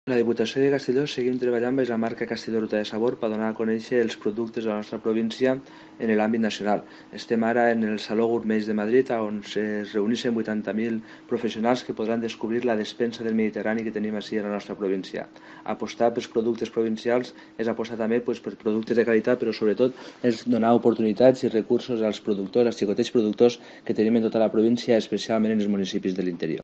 La Diputació de Castelló seguim treballant amb la marca Castelló Ruta de Sabor per donar a conèixer els productes de la nostra província en l'àmbit nacional. Estem ara en el Saló Gourmet de Madrid, on es reuneixen 80.000 professionals que podran descobrir la despensa del Mediterrani que tenim així a la nostra província. Apostar pels productes provincials és apostar també per productes de qualitat, però sobretot és donar oportunitats i recursos als productors, als xicotets productors que tenim en tota la província, especialment en els municipis de l'interior.